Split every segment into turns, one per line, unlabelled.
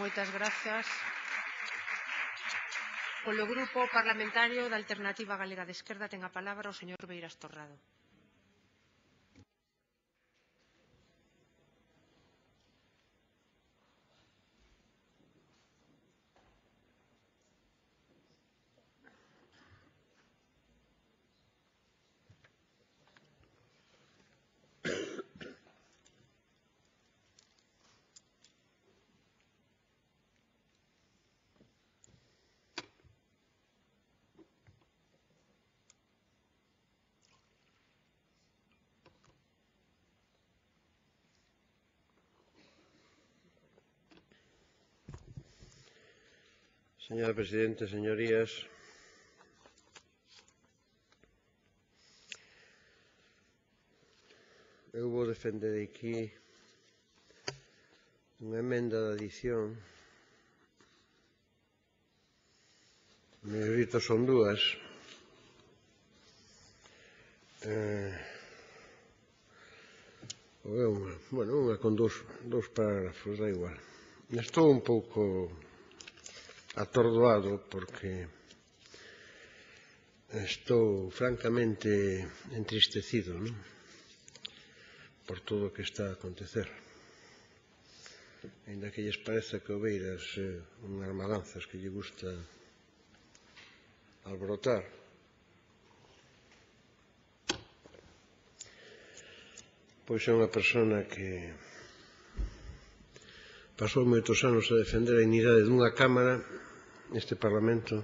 Moitas grazas. Polo Grupo Parlamentario da Alternativa Galega de Esquerda ten a palabra o señor Beiras Torrado.
Señora Presidenta, señorías, eu vou defender aquí unha emenda de adición. Mellorito son dúas. Unha con dous parágrafos, da igual. Estou un pouco atordoado porque estou francamente entristecido, non? Por todo o que está a acontecer. Ainda que lles pareza que o Beiras unhas madanzas que lle gusta alborotar. Pois é unha persona que pasou moitos anos a defender a dignidade dunha Cámara, neste Parlamento,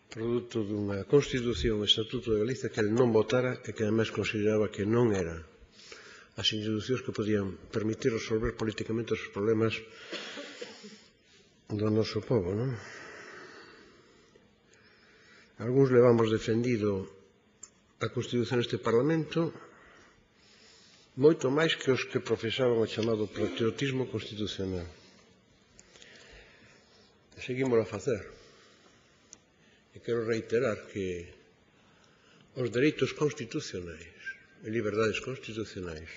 produto dunha Constitución, Estatuto de Galicia, que el non votara e que ademais consideraba que non era as institucións que podían permitir resolver políticamente os problemas do noso povo, non? Algúns levamos defendido a Constitución neste Parlamento moito máis que os que profesaban o chamado patriotismo constitucional. Seguimos a facer. E quero reiterar que os dereitos constitucionais e liberdades constitucionais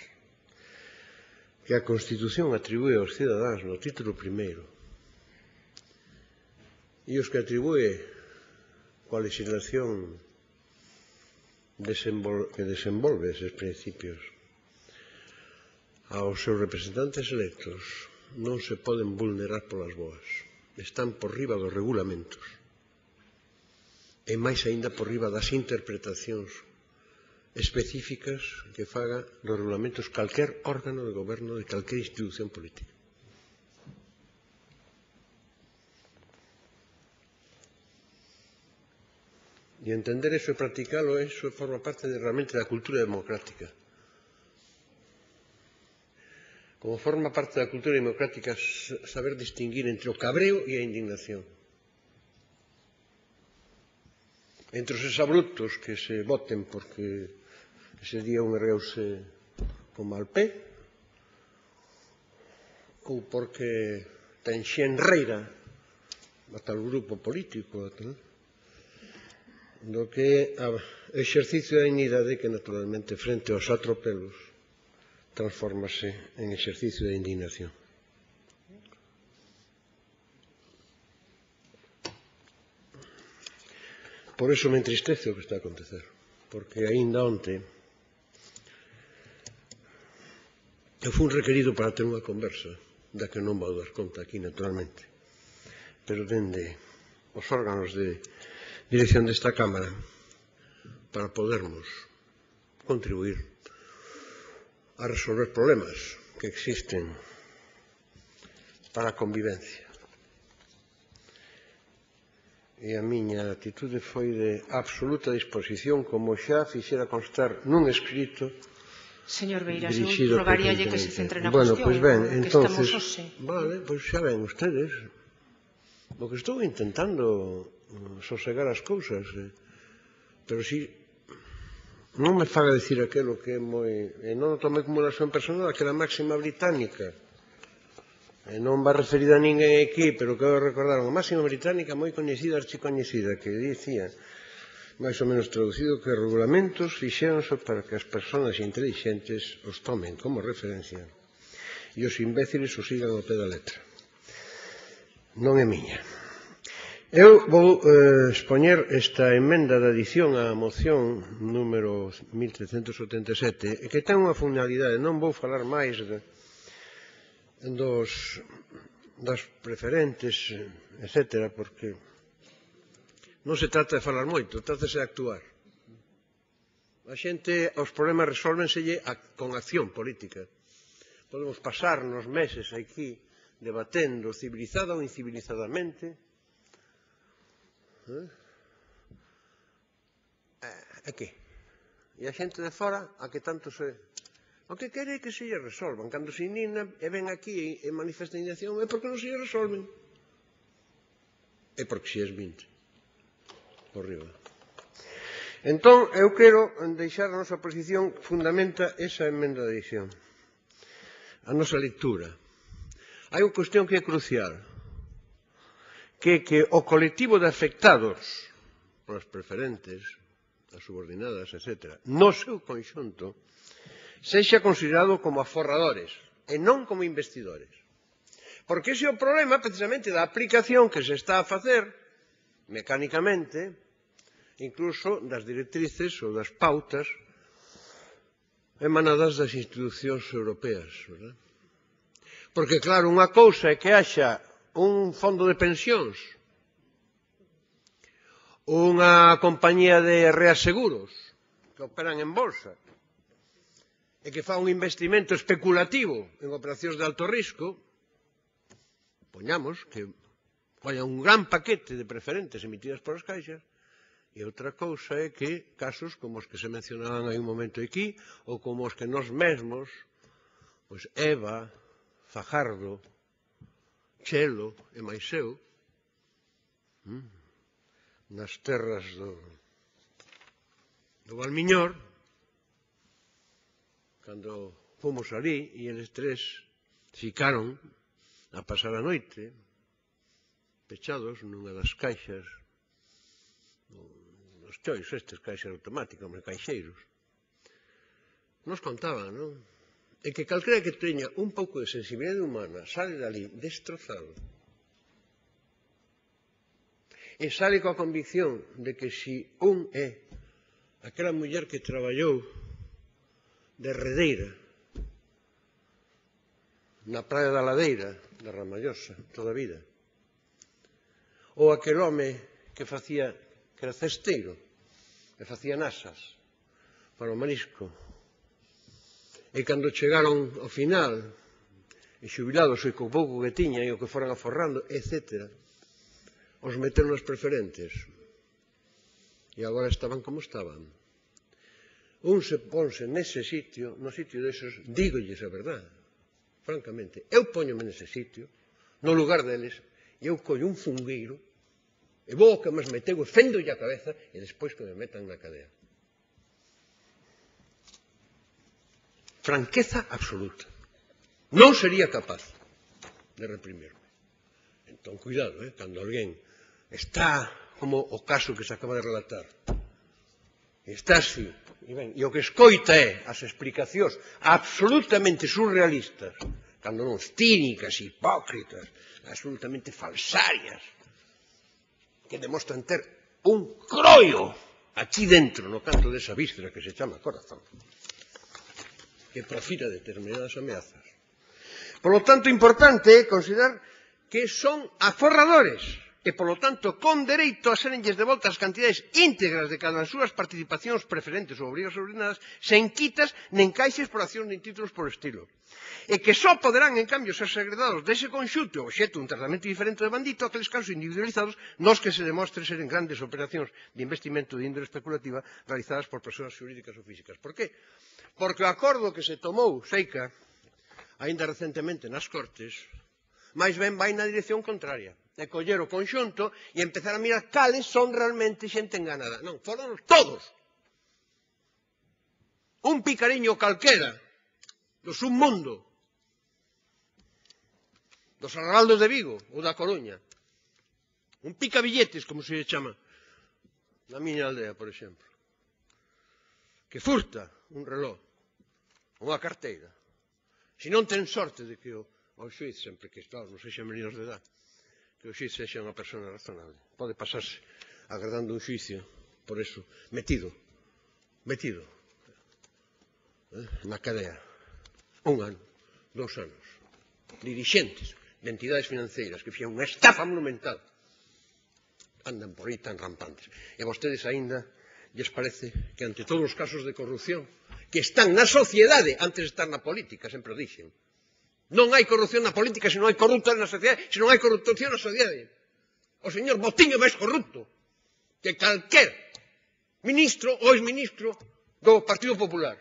que a Constitución atribúe aos cidadáns no título primeiro e os que atribúe coa legislación que desenvolve eses principios aos seus representantes electos non se poden vulnerar polas boas. Están por riba dos regulamentos e máis aínda por riba das interpretacións específicas que faga dos regulamentos calquer órgano de goberno de calquer institución política. E entender eso e practicalo, eso forma parte realmente da cultura democrática. Como forma parte da cultura democrática saber distinguir entre o cabreo e a indignación. Entre os exabruptos que se voten porque ese día un ergueuse con mal pé ou porque ten xenreira a tal grupo político, do que é o exercicio da dignidade que naturalmente frente aos atropelos transfórmase en exercicio de indignación. Por eso me entristece o que está a acontecer, porque aínda onte eu fui requerido para ter unha conversa, da que non vou dar conta aquí naturalmente, pero dende os órganos de dirección desta Cámara para podermos contribuir a resolver problemas que existen para a convivencia. E a miña actitude foi de absoluta disposición, como xa fixera constar nun escrito.
Señor Beiras, eu rogaríalle que se centre na cuestión,
pois ben,
que
entonces,
estamos hoxe.
Vale, pois xa ven ustedes. O que estou intentando sosegar as cousas, pero si non me faga dicir aquelo que é moi... E non o tomei como unha súa personal, que era a máxima británica. E non va referida a ninguén aquí, pero quero recordar unha máxima británica moi coñecida, archicoñecida, que dicía, máis ou menos traducido, que os regulamentos fixéronse para que as persoas intelixentes os tomen como referencia e os imbéciles o sigan ao pé da letra. Non é miña. Eu vou expoñer esta emenda de adición á moción número 1377 que ten unha finalidade. Non vou falar máis das preferentes, etc., porque non se trata de falar moito, trátase de actuar. A xente, os problemas resólvenselle con acción política. Podemos pasarnos meses aquí debatendo civilizada ou incivilizadamente. E que? E a xente de fora, a que tanto se... O que quere é que se lle resolvan. Cando se indigna e ven aquí e manifesta indignación, é porque non se lle resolven. É porque se es 20. Por riba. Entón, eu quero deixar a nosa posición, fundamenta esa emenda de adición. A nosa lectura. Hai unha cuestión que é crucial, que o colectivo de afectados polas preferentes, as subordinadas, etc., no seu conxunto, sexa considerado como aforradores e non como investidores. Porque ese é o problema, precisamente, da aplicación que se está a facer, mecánicamente, incluso das directrices ou das pautas emanadas das institucións europeas, verdad? Porque, claro, unha cousa é que haxa un fondo de pensións, unha compañía de reaseguros que operan en bolsa e que fa un investimento especulativo en operacións de alto risco, poñamos que haya un gran paquete de preferentes emitidas por as caixas, e outra cousa é que casos como os que se mencionaban hai un momento aquí, ou como os que nós mesmos, pois Eva, Fajardo, Chelo e máis eu, nas terras do Valmiñor, cando fomos ali e eles tres ficaron a pasar a noite pechados nunha das caixas, nos chois estes, caixas automáticas, caixeiros, nos contaban, non? E que calquera que teña un pouco de sensibilidade humana sale dali destrozado e sale coa convicción de que si un é aquela muller que traballou de herredeira na praia da Ladeira da Ramallosa toda a vida, ou aquel home que era cesteiro e facía nasas para o marisco, e cando chegaron ao final e xubilados e co pouco que tiñan e o que foran aforrando, etc., os meteron nas preferentes e agora estaban como estaban. Un se ponse nese sitio, no sitio deses, dígolles a verdade, francamente, eu póñome nese sitio, no lugar deles, e eu collo un fungueiro e vou ao que máis meteu e fendolle a cabeza e despois que me metan na cadea. Franqueza absoluta. Non sería capaz de reprimirme. Entón, cuidado, cando alguén está como o caso que se acaba de relatar, está así, e o que escoita é as explicacións absolutamente surrealistas, cando non cínicas, hipócritas, absolutamente falsarias, que demostran ter un croio aquí dentro, no canto desa víscera que se chama corazón, que profira determinadas ameazas. Por lo tanto, importante é considerar que son aforradores e, por lo tanto, con dereito a serenlles devoltas as cantidades íntegras de cada das súas participacións preferentes ou obrigas subordinadas sen quitas nen caixes por accións nin títulos por estilo. E que só poderán, en cambio, ser segredados dese conxunto obxecto un tratamento diferente de bandito aqueles casos individualizados nos que se demostre seren grandes operacións de investimento de índole especulativa realizadas por persoas xurídicas ou físicas. Por qué? Porque o acordo que se tomou, Seica, aínda recentemente nas Cortes, máis ben vai na dirección contraria. É coller o conxunto e empezar a mirar cales son realmente xente enganada. Non, foron todos. Un picariño calquera do submundo, dos arrabaldos de Vigo ou da Coruña. Un picabilletes, como se chama na miña aldea, por exemplo, que furta un reloj, unha carteira, Se non ten sorte de que o xuiz, sempre que non sexan menores de edad, que o xuiz sexa unha persona razonable. Pode pasarse agardando un xuicio, por eso, metido na cadea, 1 ano, 2 anos, dirixentes de entidades financeiras que fixeron unha estafa monumental, andan por aí tan rampantes. E a vostedes aínda lles parece que ante todos os casos de corrupción que están na sociedade antes de estar na política, sempre o dixen. Non hai corrupción na política se non hai corruptos na sociedade, se non hai corrupción na sociedade. O señor Botín é máis corrupto que calquer ministro ou exministro do Partido Popular.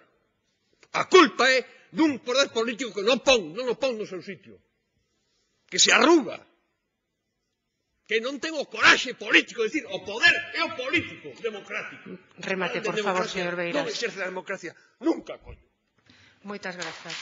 A culpa é dun poder político que non o pon no seu sitio. Que se arruga. Que non ten o coraxe político, decir, o poder é o político democrático.
Remate, por favor, señor Beiras.
Non exerce a democracia nunca, coño.
Moitas grazas.